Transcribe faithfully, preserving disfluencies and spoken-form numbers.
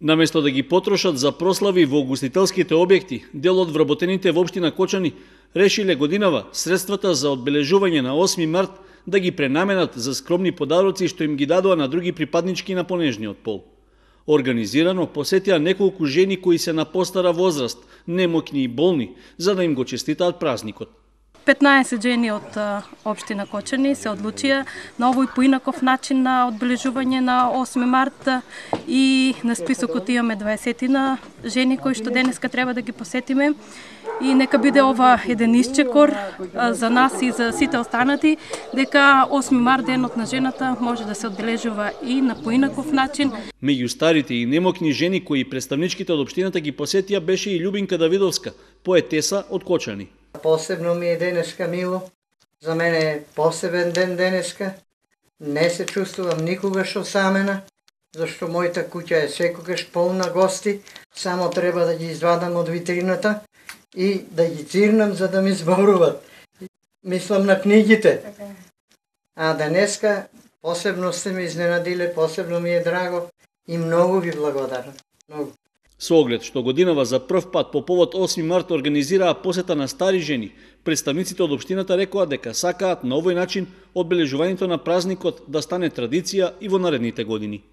Наместо да ги потрошат за прослави во угостителските објекти, дел од вработените во општина Кочани решиле годинава средствата за одбележување на осми март да ги пренаменат за скромни подароци што им ги дадоа на други припаднички на понежниот пол. Организирано посетија неколку жени кои се на постара возраст, немоќни и болни, за да им го честитаат празникот. петнаесет жени од општина Кочани се одлучија на овој поинаков начин на одбележување на осми март и на списокот имаме дваесетина жени кои што денеска треба да ги посетиме и нека биде ова еден исчекор за нас и за сите останати дека осми март денот на жената може да се одбележува и на поинаков начин. Меѓу старите и немоќни жени кои представничките од општината ги посетија беше и Љубинка Давидовска, поетеса од Кочани. Посебно ми е денеска мило, за мене е посебен ден денеска, не се чувствувам никогаш осамена, зашто мојата куќа е секогаш полна гости, само треба да ги извадам од витрината и да ги цирнам за да ми зборуват. Мислам на книгите. А денеска посебно сте ме изненадиле, посебно ми е драго и многу ви благодарам. Многу. Со оглед што годинава за прв пат по повод осми март организираа посета на стари жени, представниците од општината рекоа дека сакаат на овој начин одбележувањето на празникот да стане традиција и во наредните години.